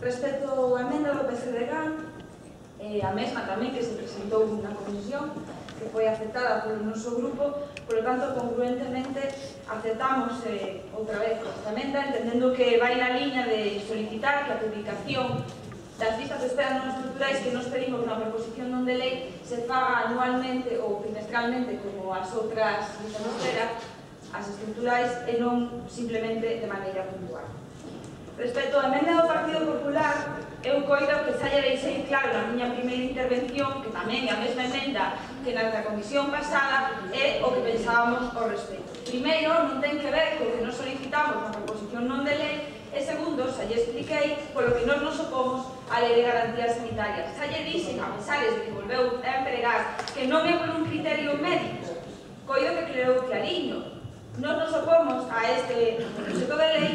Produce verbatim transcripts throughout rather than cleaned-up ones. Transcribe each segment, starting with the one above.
Respecto á emenda do P S D G, eh, a mesma tamén que se presentou na comisión, que foi aceptada polo noso grupo, polo tanto, congruentemente, aceptamos eh, outra vez esta emenda, entendendo que vai na liña de solicitar que a publicación das listas de espera non estruturais que nos pedimos na proposición non de lei se faga anualmente ou trimestralmente como as outras listas de espera, as estruturais, e non simplemente de maneira puntual. Respecto á emenda do Partido Popular, eu coido que xa lle deixei claro na miña primeira intervención, que tamén é a mesma emenda que na comisión pasada, é o que pensábamos ao respecto. Primeiro, non ten que ver co que nos solicitamos na proposición non de lei, e segundo, xa lle expliquei polo que nos nos opomos á lei de garantías sanitarias. Xa lle dixen, a pesar de que volveu a empregar, que non é por un criterio médico, coido que quedou clariño. Nos nos opomos a este proxecto de lei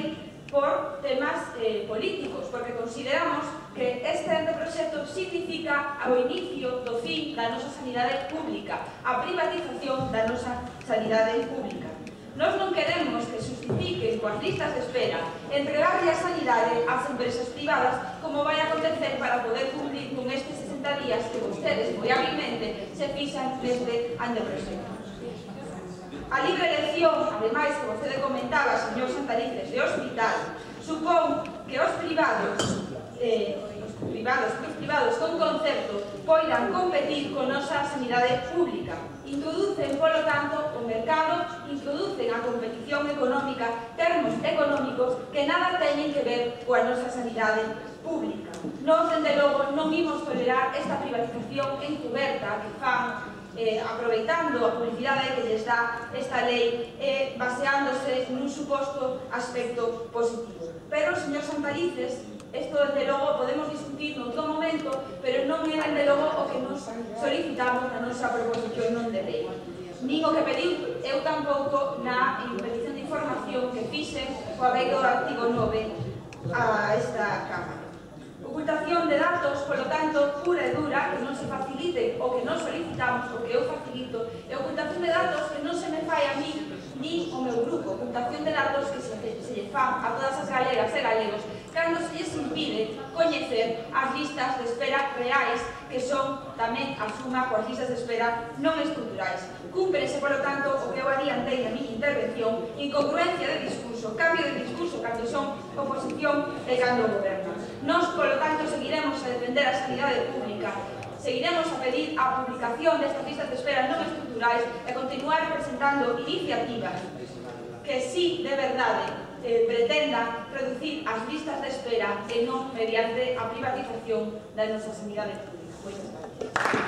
por temas eh, políticos, porque consideramos que este anteproxecto significa o inicio do fin da nosa sanidade pública, a privatización da nosa sanidade pública. Nós non queremos que justifiquen coas listas de espera entregarlle a sanidade ás empresas privadas, como vai acontecer para poder cumplir con estes sesenta días que vostedes, moi hábilmente, se fixan neste anteproxecto. A libre elección, ademais, que vostede comentaba, señor Santalices, de hospital, supón que os privados, eh, os privados, os privados con concerto, poidan competir con nosa sanidade pública. Introducen, polo tanto, o mercado, introducen a competición económica, termos económicos que nada teñen que ver coa nosa sanidade pública. Nós, dende logo, non imos tolerar esta privatización encuberta que fan Eh, aproveitando a publicidade que lles dá esta lei e eh, baseándose nun suposto aspecto positivo. Pero, señor Santalices, isto desde logo podemos discutir noutro momento, pero non é desde logo o que nos solicitamos na nosa proposición non de lei. Nin o que pediu eu tampouco na petición de información que fixen coa lei do artigo nove a esta Cámara. Ocultación de datos, polo tanto, pura e dura, que non se facilite o que non solicitamos, o que eu facilito, e ocultación de datos que non se me fai a mí ni o meu grupo, ocultación de datos que se, se lle fan a todas as galegas e galegos, cando se lles impide coñecer as listas de espera reais, que son tamén a suma coas listas de espera non estruturais. Cúmprese, polo tanto, o que eu adiantei na miña intervención, incongruencia de discurso, cambio de discurso cando son oposición e cando gobernan. Nós, polo tanto, seguiremos a defender a sanidade pública, seguiremos a pedir a publicación destas listas de espera non estruturais e continuar presentando iniciativas que sí, de verdade, eh, pretendan reducir as listas de espera e non mediante a privatización da nosa sanidade pública. Moitas gracias.